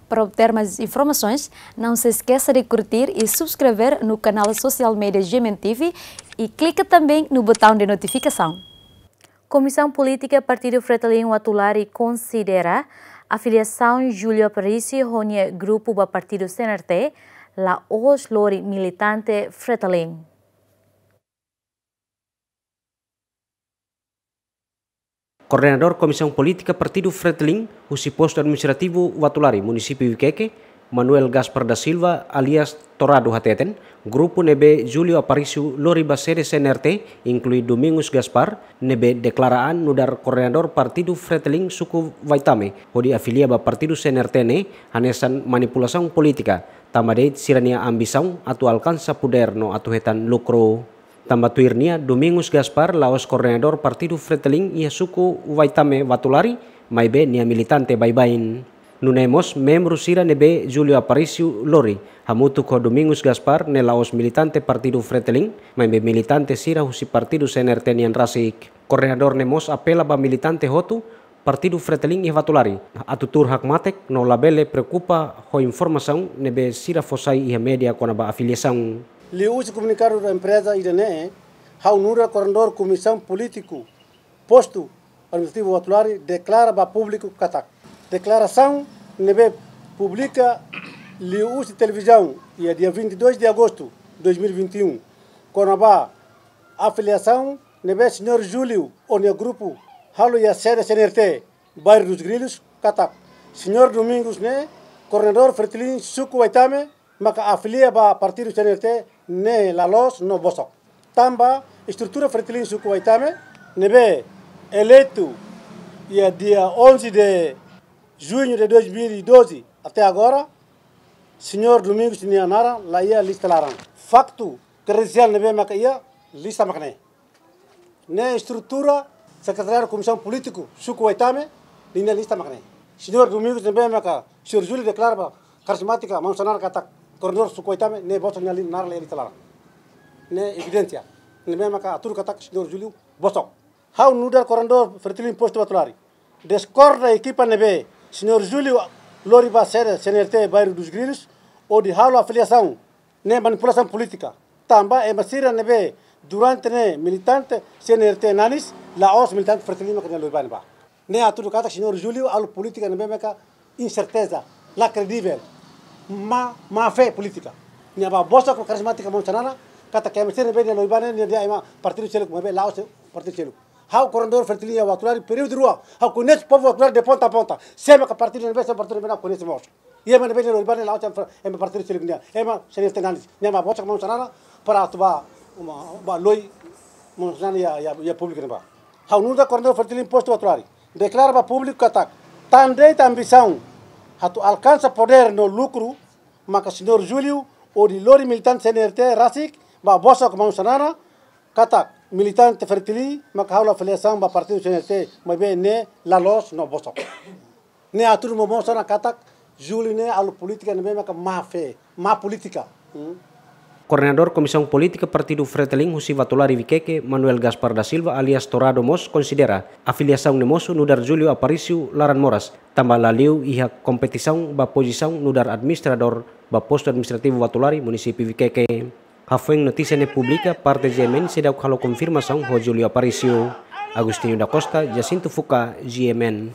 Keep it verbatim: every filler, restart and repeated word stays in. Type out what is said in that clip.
Para obter mais informações, não se esqueça de curtir e subscrever no canal social media G M N T V e clica também no botão de notificação. Komisaun Polítika Partidu Fretilin Uatulari konsidera afiliasaun Júlio Aparício ho nia grupu ba Partidu C N R T la'ós lori militante Fretilin. Koordenadór Komisaun Polítika Partidu Fretilin husi Postu Administrativu Uatulari, Munisípiu Viqueque, Manuel Gaspar da Silva alias Torado hateten, grupu ne'ebé Júlio Aparício lori ba sede C N R T, inklui Domingos Gaspar, ne'ebé deklara an nu'udar koordenadór Partidu Fretilin suku Vaitame, hodi afilia ba Partidu C N R T ne'e hanesan manipulasaun polítika, tanba de'it sira-nia ambisaun atu alkansa podér no atu hetan lukru. Tanba tuir nia, Domingos Gaspar la'ós koordenadór Partidu Fretilin iha suku Vaitame Uatulari, maibé nia militante baibain. Nune'e mós membru sira ne'ebé Júlio Aparício lori hamutuk ho Domingos Gaspar ne'e la'ós militante Partidu Fretilin, maibé militante sira husi Partidu C N R T nian rasik. Koordenadór ne'e mós apela ba militante hotu Partidu Fretilin iha Uatulari atu tuur hakmatek no labele preokupa ho informasaun ne'ebé sira fó sai iha média kona-ba afiliasaun. Liuhusi komunikadu da empreza ida-ne'e, ha'u nu'udar koordenadór Komisaun Polítiku Postu Administrativu Uatulari deklara ba públiku katak deklarasaun ne'ebé publika liuhusi televizaun iha dia vinte e dois de agosto dois mil e vinte e um, kona-ba afiliasaun ne'ebé Señór Júlio ho nia grupu halo iha sede C N R T, Bairro dos Grilhos, katak Señór Domingos ne'e koordenadór Fretilin suku Vaitame, maka afilia ba Partidu C N R T ne'e la loos no bosok. Tanba estrutura Fretilin suku Vaitame ne'ebé eleitu iha dia onze de junho de dois mil e doze até agora, Señór Domingos nia naran la iha lista laran. Faktu kredensiál ne'ebé maka iha lista mak ne'e. Ne'e estrutura Sekretariadu Komisaun Polítiku suku Vaitame ninia lista mak ne'e. Señór Domingos ne'ebé maka Señór Júlio deklara ba karismátika maun Xanana katak koordenadór suku Vaitame ne'e bosok nia li-, naran la iha lista laran. Ne'e evidénsia ne'ebé maka hatudu katak Señór Júlio bosok. Ha'u nu'udar koordenadór Fretilin Postu Uatulari diskorda ekipa ne'ebé Señór Júlio lori ba sede C N R T Bairro dos Grilhos hodi halo afiliasaun ne'e manipulasaun polítika. Tanba ema sira ne'ebé durante ne'e militante C N R T nanis, la'ós militante Fretilin maka nia lori ba ne'ebá. Ne'e hatudu katak Señór Júlio halo polítika ne'ebé maka inserteza, la kredivel, má, má fé polítika. Nia bá bosok ho karismátika maun Xanana, katak ema sira ne'ebé nia lori ba ne'e, nia dehan ema partidu seluk, maibé la'ós partidu seluk. Ha'u koordenadór Fretilin iha Uatulari períodu rua, ha'u koñese povu Uatulari de ponta a ponta. Sé maka partidu ne'ebé, sé partidu ne'ebé, ha'u koñese mós. Iha ema ne'ebé nia lori ba ne'e la'ós ema partidu seluk nian, ema C N R T nanis. Nia bá bosok maun Xanana para atu bá, bá lori maun Xanana iha, iha, iha públiku ne'ebá. Ha'u nu'udar koordenadór Fretilin Postu Uatulari deklara ba públiku katak tan de'it ambisaun atu alkansa podér no lukru, maka Señór Júlio hodi lori militante C N R T rasik bá bosok maun Xanana katak militante Fretilin maka halo afiliasaun ba partidu C N R T, maibé ne'e la loos no bosok. Ne'e hatudu momoos ona katak Júlio ne'e halo polítika ne'ebé maka má fé, má polítika. Hmm? Koordenadór Komisaun Polítika Partidu Fretilin husi Uatulari Viqueque, Manuel Gaspar da Silva alias Torado mós konsidera afiliasaun ne'e mosu nu'udar Júlio Aparício laran moras, tanba la liu iha kompetisaun ba pozisaun nu'udar administradór ba Postu Administrativu Uatulari, Munisípiu Viqueque. Hafoin notísia ne'e publika, parte G M N seidauk halo konfirmasaun ho Júlio Aparício. Agostinho da Costa, Jacinto Fuca, G M N.